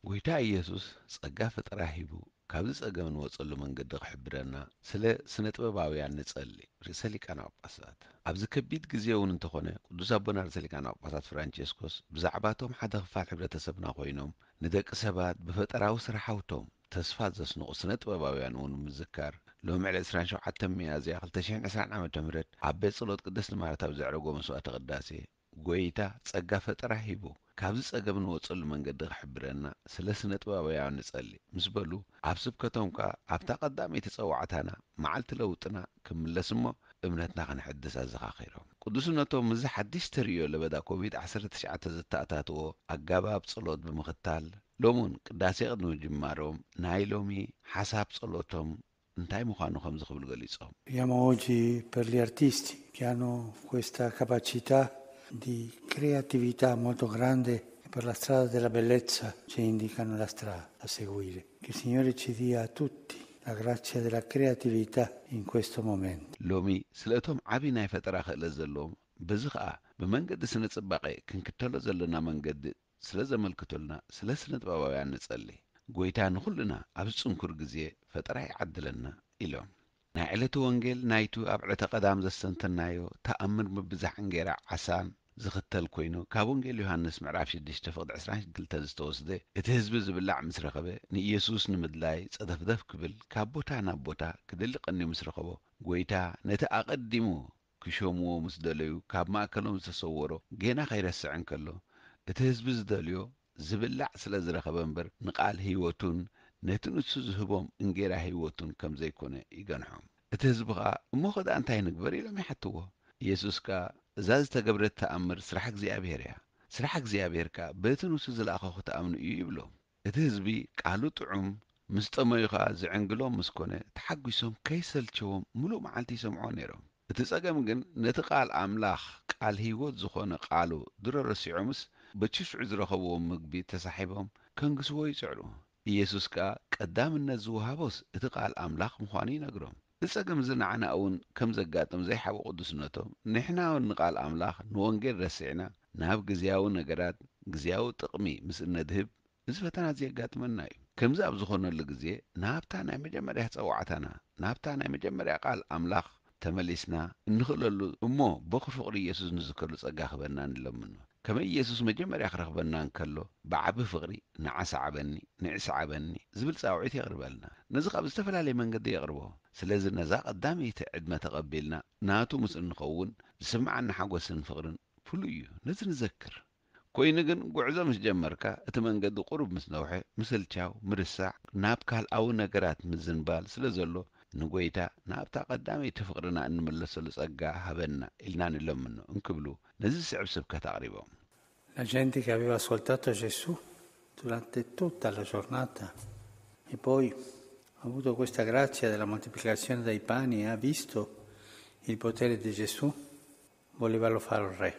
ጎይታ ኢየሱስ ጸጋ ፈጠራ ሂቡ ካብዚ ጸገም እንወጸሉ መንገዲ ክሕብረና ስለ ስነ ጥበባውያን ንጸሊ። ርእሰ ሊቃነ ጳጳሳት ኣብዚ ከቢድ ግዜ እውን እንተኾነ ቅዱስ ኣቦና ርእሰ ሊቃነ ጳጳሳት ፍራንቸስኮስ ብዛዕባቶም ሓደ ክፋል ሕብረተሰብና ኮይኖም ንደቂ ሰባት ብፈጠራዊ ስራሕ ሃብቶም ተስፋ ዘስንቑ ስነ ጥበባውያን እውን ምዝካር ሎሚ ዕለት ዕስራን ሸውዓተን ሚያዝያ ክልተ ሽሕን ዕስራን ዓመተ ምህረት ኣብ ቤት ጸሎት ቅድስቲ ማርታ ኣብ ዘዕረጎ መስዋዕተ ቅዳሴ ጎይታ ጸጋ ፈጠራ ሂቡ ካብዚ ጸገም ንወጸሉ መንገዲ ክሕብረና ስለ ስነ ጥበባውያን ንጸሊ ምስ በሉ ኣብ ስብከቶም ከኣ ኣብታ ቀዳመይቲ ጸዋዕታና መዓልቲ ለውጥና ክምለስ እሞ እምነትና ክንሕድስ ኣዘኻኺሮም። ቅዱስነቶም ምስዚ ሓድሽ ተርእዮ ለበዳ ኮቪድ ዓሰርተ ትሽዓተ ዘተኣታትዎ ኣጋባብ ጸሎት ብምኽታል ሎሚ እውን ቅዳሴ ቅድሚ ምጅማሮም ናይ ሎሚ ሓሳብ ጸሎቶም እንታይ ምዃኑ ከምዚ ክብሉ ገሊጾም። Abbiamo oggi per gli artisti che hanno questa capacità di creatività molto grande e per la strada della bellezza ci indicano la strada da seguire. Che il Signore ci dia a tutti la grazia della creatività in questo momento. ሎሚ ስለ እቶም ዓቢ ናይ ፈጠራ ክእለት ዘለዎም በዚ ኸኣ ብመንገዲ ስነ ጽባቐ ክንክተሎ ዘለና መንገዲ ስለ ዘመልክቱልና ስለ ስነ ጥበባውያን ንጸሊ። ጎይታ ንኹልና ኣብዚ ጽንኩር ግዜ ፈጠራ ይዓድለና ኢሎም። ናይ ዕለቱ ወንጌል ናይቱ ኣብ ዕለተ ቀዳም ዘስተንተናዮ ተኣምር ምብዛሕ እንጌራ ዓሳን ዝኽተል ኮይኑ ካብ ወንጌል ዮሃንስ ምዕራፍ ሽዱሽተ ፍቕዲ ዕስራን ክልተን ዝተወስደ እቲ ህዝቢ ዝብላዕ ምስ ረኸበ ንኢየሱስ ንምድላይ ጸደፍደፍ ክብል ካብ ቦታ ናብ ቦታ ክደሊ ቀንዩ ምስ ረኸቦ ጎይታ ነቲ ኣቐዲሙ ክሸምዎ ምስ ደለዩ ካብ ማእከሎም ዝተሰወሮ ጌና ከይረስዕ እንከሎ እቲ ህዝቢ ዝደልዮ ዝብላዕ ስለ ዝረኸበ እምበር ንቃል ህይወቱን ነቲ ንሱ ዝህቦም እንጌራ ህይወቱን ከም ዘይኮነ ይገንሖም። እቲ ህዝቢ ኸኣ እሞ ኸኣ እንታይ ንግበር ኢሎም ይሓትዎ። ኢየሱስ ከኣ እዛ ዝተገብረት ተኣምር ስራሕ እግዚኣብሔር እያ። ስራሕ እግዚኣብሔር ከኣ በቲ ንሱ ዝለኣኾ ክትኣምኑ እዩ ይብሎም። እቲ ህዝቢ ቃሉ ጥዑም ምስ ጠመዩ ኸኣ ዝዕንግሎም ምስ ኮነ ተሓጒሶም ከይሰልቸዎም ምሉእ መዓልቲ ይሰምዕዎ ነይሮም። እቲ ጸገም ግን ነቲ ቃል ኣምላኽ ቃል ህይወት ዝኾነ ቃሉ ድሮ ረሲዖምስ በቲ ሽዑ ዝረኸብዎ ምግቢ ተሳሒቦም ከንግስዎ ይጽዕሩ። ኢየሱስ ከኣ ቀዳምነት ዝወሃቦስ እቲ ቃል ኣምላኽ ምዃኑ ይነግሮም። እዚ ጸገም እዚ ንዓና እውን ከም ዘጋጥም ዘይሓብኡ ቅዱስነቶም ንሕና እውን ንቃል ኣምላኽ ንወንጌል ረሲዕና ናብ ግዝያዊ ነገራት ግዝያዊ ጥቕሚ ምስ እነድህብ እዚ ፈተና እዚ የጋጥመና እዩ። ከምዚ ኣብ ዝኾነሉ ግዜ ናብታ ናይ መጀመርያ ጸዋዕታና ናብታ ናይ መጀመርያ ቃል ኣምላኽ ተመሊስና እንኽእለሉ እሞ በኹ ፍቕሪ ኢየሱስ ንዝከሉ ጸጋ ክበና ንለምኖ። ከመይ ኢየሱስ መጀመርያ ክረኽበና እንከሎ ብዓቢ ፍቕሪ ንዓ ሰዓበኒ፣ ንዒ ሰዓበኒ ዝብል ጻውዒት የቕርበልና። ነዚ ካብ ዝተፈላለየ መንገዲ የቕርቦ። ስለዚ ነዛ ቀዳመይቲ ዕድመ ተቐቢልና ናቱ ምስ እንኸውን ዝስምዓና ሓጎስን ፍቕርን ፍሉይ እዩ። ነዚ ንዘክር። ኮይኑ ግን ጉዕዞ ምስ ጀመርካ እቲ መንገዲ ቁሩብ ምስ ነውሐ ምስልቻው፣ ምርሳዕ፣ ናብ ካልኣዊ ነገራት ምዝንባል ስለ ዘሎ ንጎይታ ናብታ ቀዳመይቲ ፍቕርና እንምለሰሉ ጸጋ ሃበና ኢልና ንለምኖ እንክብሉ ነዚ ዝስዕብ ስብከት ኣቕሪቦም። La gente che aveva ascoltato Gesù durante tutta la giornata e poi ha avuto questa grazia della moltiplicazione dei pani e ha visto il potere di Gesù, voleva lo fare re.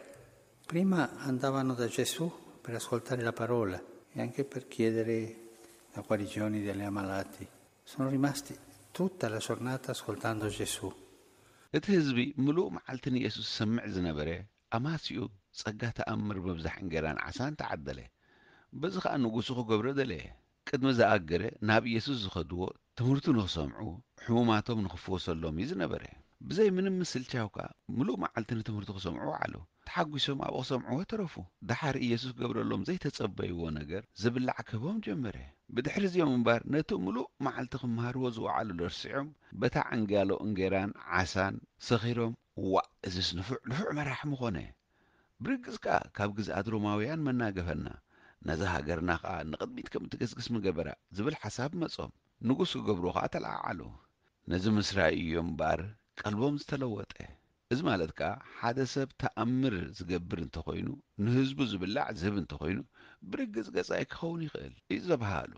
Prima andavano da Gesù per ascoltare la parola e anche per chiedere la guarigione degli ammalati. Sono rimasti tutta la giornata ascoltando Gesù. እቲ ህዝቢ ምሉእ መዓልቲ ንኢየሱስ ዝሰምዕ ዝነበረ ኣማሲኡ ጸጋ ተኣምር ምብዛሕ እንጌራን ዓሳን ተዓደለ። በዚ ኸኣ ንጉሱ ክገብሮ ደለየ። ቅድሚ ዝኣገረ ናብ ኢየሱስ ዝኸድዎ ትምህርቱ ንኽሰምዑ ሕሙማቶም ንኽፍወሰሎም እዩ ዝነበረ። ብዘይ ምንም ምስልቻው ከኣ ምሉእ መዓልቲ ንትምህርቱ ክሰምዑ ውዓሉ። ተሓጒሶም ኣብኡ ክሰምዕዎ ተረፉ። ደሓር ኢየሱስ ክገብረሎም ዘይተጸበይዎ ነገር ዝብላዕ ክህቦም ጀመረ። ብድሕሪ እዚኦም እምበር ነቲ ምሉእ መዓልቲ ክመሃርዎ ዝወዓሉ ረሲዖም በታ ዕንጋሎ እንጌራን ዓሳን ሰኺሮም ዋእ እዝስ ንፉዕ ንፉዕ መራሒ ምኾነ። ብርግጽ ከኣ ካብ ግዝኣት ሮማውያን መናገፈና፣ ነዛ ሃገርና ከኣ ንቕድሚት ከም እትገስግስ ምገበራ ዝብል ሓሳብ መጾም። ንጉስ ክገብርዎ ከኣ ተለዓዓሉ። ነዚ ምስ ረኣዩ እዮም እምበኣር ቀልቦም ዝተለወጠ። እዚ ማለት ከኣ ሓደ ሰብ ተኣምር ዝገብር እንተኾይኑ፣ ንህዝቡ ዝብላዕ ዝህብ እንተኾይኑ፣ ብርግጽ ገጻይ ክኸውን ይኽእል እዩ ዘብሃሉ።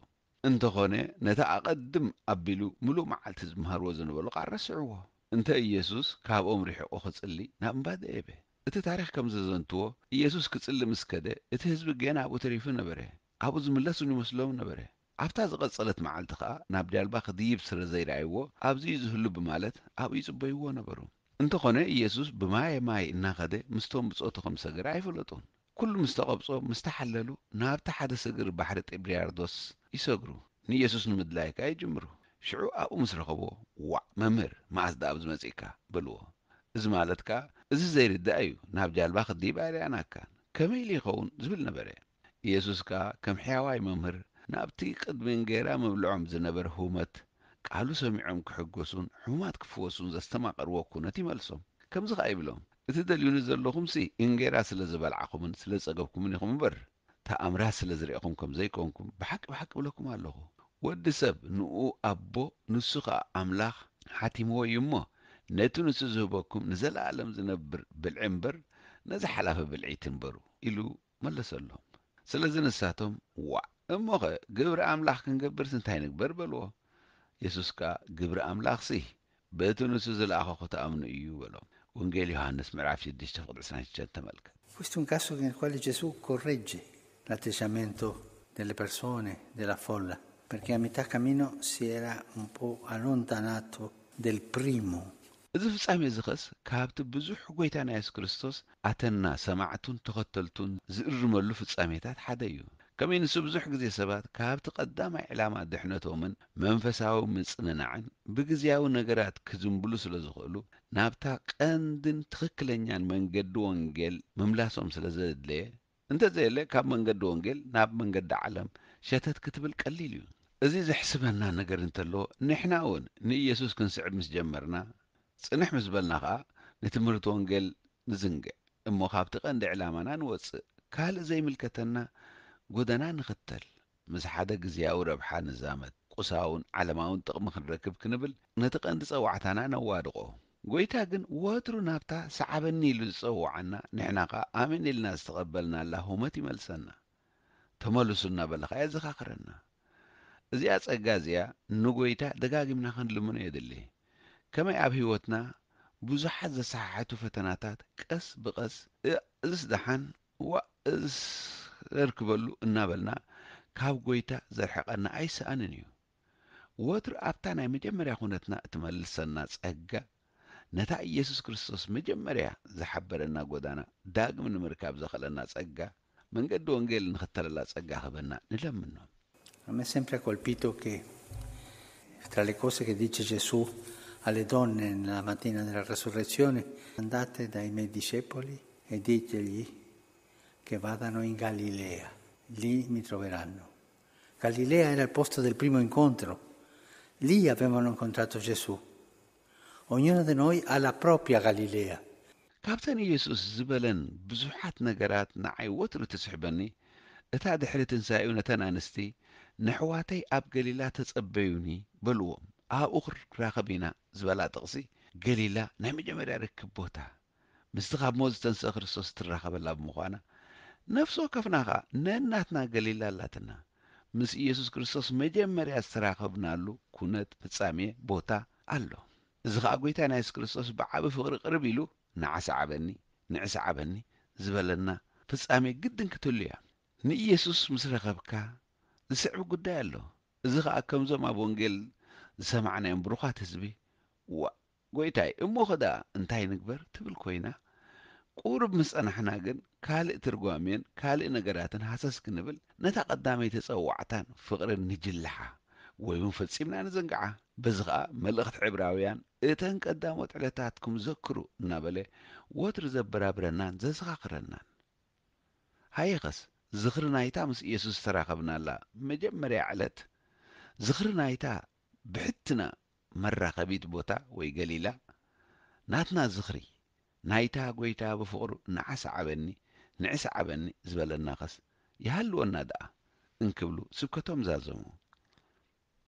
እንተኾነ ነቲ ኣቐድም ኣቢሉ ምሉእ መዓልቲ ዝመሃርዎ ዝነበሩ ቃል ረስዕዎ። እንተ ኢየሱስ ካብኦም ርሒቑ ክጽሊ ናብ እምባ ደየበ። እቲ ታሪኽ ከም ዘዘንትዎ፣ ኢየሱስ ክጽሊ ምስ ከደ፣ እቲ ህዝቢ ጌና ኣብኡ ተሪፉ ነበረ። ኣብኡ ዝምለስ እውን ይመስሎም ነበረ። ኣብታ ዝቐጸለት መዓልቲ ኸኣ ናብ ጃልባ ክድይብ ስለ ዘይረኣይዎ፣ ኣብዚ እዩ ዝህሉ ብማለት ኣብኡ ይጽበይዎ ነበሩ። እንተኾነ ኢየሱስ ብማየ ማይ እናኸደ ምስቶም ብጾቱ ከም ዝሰገረ ኣይፈለጡን። ኩሉ ምስ ተቐብጾ፣ ምስ ተሓለሉ፣ ናብቲ ሓደ ስግር ባሕሪ ጢብርያርዶስ ይሰግሩ። ንኢየሱስ ንምድላይ ከኣ ይጅምሩ። ሽዑ ኣብኡ ምስ ረኸቦ፣ "ዋዕ መምህር፣ መኣስ ደኣ ኣብዚ መጺእካ?" በልዎ። እዚ ማለት ከኣ፣ "እዚ ዘይርዳእ እዩ፣ ናብ ጃልባ ክትድይብ ኣይረኣናካን። ከመይ ኢሉ ይኸውን?" ዝብል ነበረ። ኢየሱስ ከኣ ከም ሕያዋይ መምህር ናብቲ ቅድሚ እንጌራ ምብልዖም ዝነበረ ህውመት፣ ቃሉ ሰሚዖም ክሕጎሱን ሕሙማት ክፍወሱን ዘስተማቐርዎ ኩነት ይመልሶም። ከምዚ ኸኣ ይብሎም፣ "እቲ ደልዩኒ ዘለኹምሲ እንጌራ ስለ ዝበልዓኹምን ስለ ዝጸገብኩምን ኢኹም እምበር፣ ተኣምራት ስለ ዝረኤኹም ከም ዘይኮንኩም ብሓቂ ብሓቂ እብለኩም ኣለኹ። ወዲ ሰብ ንኡ ኣቦ ንሱ ኸኣ ኣምላኽ ሓቲምዎ እዩ እሞ፣ ነቲ ንሱ ዝህበኩም ንዘለኣለም ዝነብር ብልዒ እምበር፣ ነዚ ሓላፊ ብልዒ ኣይትንበሩ" ኢሉ መለሰሎም። ስለዚ ንሳቶም፣ "ዋእ፣ እሞኸ ግብሪ ኣምላኽ ክንገብርስ እንታይ ንግበር?" በልዎ። የሱስ ከኣ፣ "ግብሪ ኣምላኽሲ በቲ ንሱ ዝለኣኾ ክትኣምኑ እዩ" በሎም። ወንጌል ዮሃንስ ምዕራፍ ሽዱሽተ ቁጽሪ ዕስራን ሽዱሽተን ተመልከት። Questo è un caso nel quale Gesù corregge l'atteggiamento delle persone, della folla, perché a metà cammino si era un po' allontanato del primo. እዚ ፍጻሜ እዚ ኸስ ካብቲ ብዙሕ ጎይታና የሱስ ክርስቶስ ኣተና ሰማዕቱን ተኸተልቱን ዝእርመሉ ፍጻሜታት ሓደ እዩ። ከመይ ንሱ ብዙሕ ግዜ ሰባት ካብቲ ቀዳማይ ዕላማ ድሕነቶምን መንፈሳዊ ምጽንናዕን ብግዝያዊ ነገራት ክዝንብሉ ስለ ዝኽእሉ፣ ናብታ ቀንድን ትኽክለኛን መንገዲ ወንጌል ምምላሶም ስለ ዘድለየ፣ እንተዘየለ ካብ መንገዲ ወንጌል ናብ መንገዲ ዓለም ሸተት ክትብል ቀሊል እዩ። እዚ ዘሕስበና ነገር እንተሎ፣ ንሕና እውን ንኢየሱስ ክንስዕብ ምስ ጀመርና፣ ጽንሕ ምስ በልና ኸኣ ንትምህርቲ ወንጌል ንዝንግዕ። እሞ ካብቲ ቀንዲ ዕላማና ንወጽእ፣ ካልእ ዘይምልከተና ጎደና ንኽተል፣ ምስ ሓደ ግዝያዊ ረብሓ ንዛመድ፣ ቁሳውን ዓለማውን ጥቕሚ ክንረክብ ክንብል ነቲ ቀንዲ ጸዋዕታና ነዋድቖ። ጎይታ ግን ወትሩ ናብታ ሰዓበኒ ኢሉ ዝጸውዓና፣ ንሕና ኸኣ ኣሜን ኢልና ዝተቐበልናላ ሁመት ይመልሰና። ተመልሱ እናበለ ኸኣ የዘኻኽረና። እዚኣ ጸጋ እዚኣ ንጎይታ ደጋጊምና ክንልምኖ የድሊ። ከመይ ኣብ ህይወትና ብዙሓት ዘሰሓሕቱ ፈተናታት ቀስ ብቐስ፣ "እእ፣ እዝስ ደሓን፣ ዋእ፣ እዝስ ዘርክበሉ" እናበልና ካብ ጎይታ ዘርሕቐና ኣይሰኣንን እዩ። ወትሩ ኣብታ ናይ መጀመርያ ኩነትና እትመልሰና ጸጋ፣ ነታ ኢየሱስ ክርስቶስ መጀመርያ ዝሓበረና ጎዳና ዳግም ንምርካብ ዘኽእለና ጸጋ፣ መንገዲ ወንጌል ንኽተለላ ጸጋ ክህበና ንለምኖ። A me sempre ha colpito che tra le cose che dice Gesù alle donne nella mattina della resurrezione: "Andate dai miei discepoli e ditegli che vadano in Galilea, lì mi troveranno." Galilea era il posto del primo incontro, lì avevano incontrato Gesù. Ognuno di noi ha la propria Galilea. ካብተን ኢየሱስ ዝበለን ብዙሓት ነገራት ንዓይ ወትሩ ትስሕበኒ፣ እታ ድሕሪ ትንሳኤኡ ነተን ኣንስቲ፣ "ነሕዋተይ ኣብ ገሊላ ተጸበዩኒ" በልዎም፣ "ኣብኡ ክራኸብ ኢና" ዝበላ ጥቕሲ፣ ገሊላ ናይ መጀመርያ ርክብ ቦታ፣ ምስቲ ካብ ሞት ዝተንስአ ክርስቶስ እትራኸበላ ብምዃና፣ ነፍሲ ወከፍና ኸኣ ነናትና ገሊላ ኣላትና። ምስ ኢየሱስ ክርስቶስ መጀመርያ ዝተራኸብናሉ ኩነት፣ ፍጻሜ፣ ቦታ ኣሎ። እዚ ኸኣ ጎይታና የሱስ ክርስቶስ ብዓቢ ፍቕሪ ቅርብ ኢሉ፣ "ንዓ ሰዓበኒ፣ ንዒ ሰዓበኒ" ዝበለና ፍጻሜ ግድን ክትህሉ እያ። ንኢየሱስ ምስ ረኸብካ ዝስዕብ ጉዳይ ኣሎ። እዚ ኸኣ ከምዞም ኣብ ወንጌል ዝሰማዕናዮም ብሩኻት ህዝቢ፣ "ዋእ፣ ጎይታይ፣ እሞኸ ደኣ እንታይ ንግበር?" ትብል ኮይና፣ ቁሩብ ምስ ጸናሕና ግን ካልእ ትርጓሜን ካልእ ነገራትን ሃሰስ ክንብል፣ ነታ ቀዳመይቲ ጸዋዕታን ፍቕርን ንጅልሓ ወይ እውን ፈጺምና ንዘንግዓ። በዚ ኸኣ መልእኽቲ ዕብራውያን፣ "እተን ቀዳሞት ዕለታትኩም ዘክሩ" እናበለ ወትሩ ዘበራብረናን ዘዘኻኽረናን። ሃየኸስ፣ ዝኽሪ ናይታ ምስ ኢየሱስ ዝተራኸብናላ መጀመርያ ዕለት፣ ዝኽሪ ናይታ ብሕትና መራኸቢት ቦታ ወይ ገሊላ፣ ናትና ዝኽሪ ናይታ ጎይታ ብፍቕሩ "ንዓ ሰዓበኒ፣ ንዒ ሰዓበኒ" ዝበለናኸስ ይሃልወና ደኣ እንክብሉ ስብከቶም ዛዘሙ።